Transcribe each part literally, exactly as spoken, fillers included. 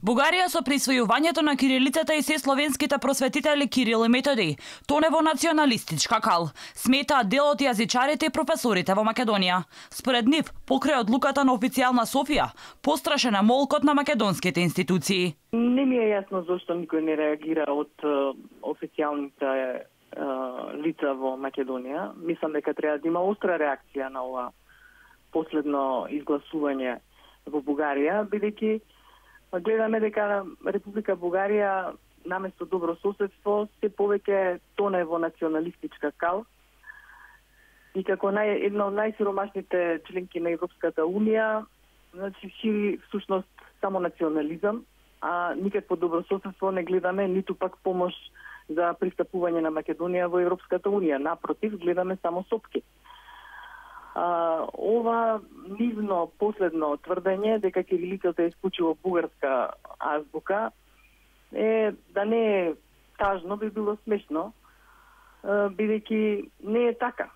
Бугарија со присвојувањето на кирилицата и се словенските просветители Кирил и Методиј тоне во националистичка кал, сметаат дел од јазичарите и професорите во Македонија. Според нив, покрај одлуката на официјална Софија, пострашен е молкот на македонските институции. Не ми е јасно зошто никој не реагира од официјалните лица во Македонија. Мислам дека треба да има остра реакција на ова последно изгласување во Бугарија, бидејќи гледаме дека Република Бугарија наместо добро соседство се повеќе тоне во националистичка кал и како нај, една од најсиромашните членки на Европската Унија, значи шири всушност само национализам, а никакво добро соседство не гледаме, ниту пак помош за пристапување на Македонија во Европската Унија. Напротив, гледаме само сопки. А, ова нивно последно тврдење дека кирилицата е исклучиво бугарска азбука е да не е тажно, би било смешно, бидејќи не е така.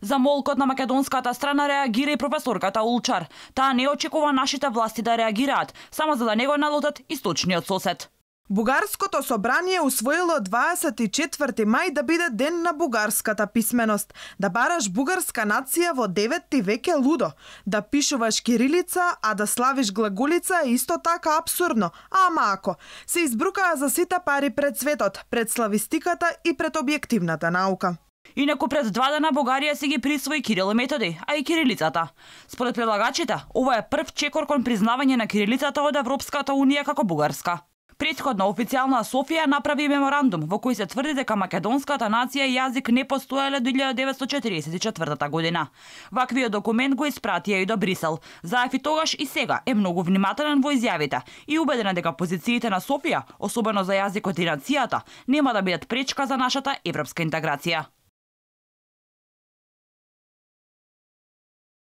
За молкот на македонската страна реагира и професорката Улчар. Таа не очекува нашите власти да реагираат, само за да не го налутат источниот сосед. Бугарското собрание усвоило дваесет и четврти мај да биде ден на бугарската писменост. Да бараш бугарска нација во деветти век е лудо. Да пишуваш кирилица, а да славиш глаголица е исто така абсурдно. Ама ако се избрукаа за сите пари пред светот, пред славистиката и пред објективната наука. Инаку пред два дена Бугарија си ги присвои Кирил и Методиј, а и кирилицата. Според предлагачите, ова е прв чекор кон признавање на кирилицата од Европската Унија како бугарска. Претходно официјална Софија направи меморандум во кој се тврди дека македонската нација и јазик не постоеле до илјада деветстотини четиридесет и четвртата година. Ваквиот документ го испратија и до Брисел. Заев и тогаш и сега е многу внимателен во изјавите и убеден дека позициите на Софија, особено за јазикот и нацијата, нема да бидат пречка за нашата европска интеграција.